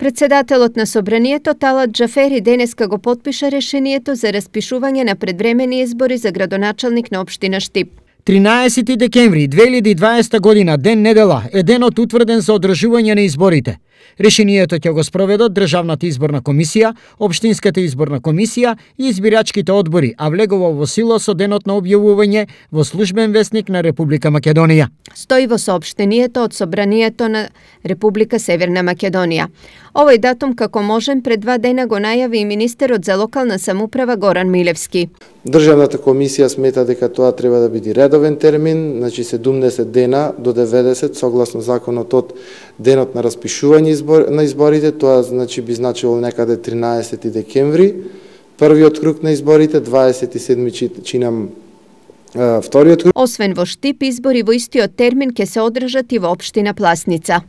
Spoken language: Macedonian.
Председателот на Собранието Талат Џафери денеска го потпиша решението за распишување на предвремени избори за градоначалник на општина Штип. 13 декември 2020 година, ден недела, е денот утврден за одржување на изборите. Решението ќе го спроведат Државната изборна комисија, Општинската изборна комисија и избирачките одбори, а влегува во сила со денот на објавување во Службен весник на Република Македонија. Стои во соопштението од Собранието на Република Северна Македонија. Овој датум како можен пред 2 дена го најави и министерот за локална самоуправа Горан Милевски. Државната комисија смета дека тоа треба да биде редовен термин, значи 70 дена до 90 согласно законот од денот на распишување на изборите, тоа значи би значило некаде 13 декември, првиот круг на изборите, 27 чинам вториот круг. Освен во Штип, избори во истиот термин ќе се одржат и во општина Пласница.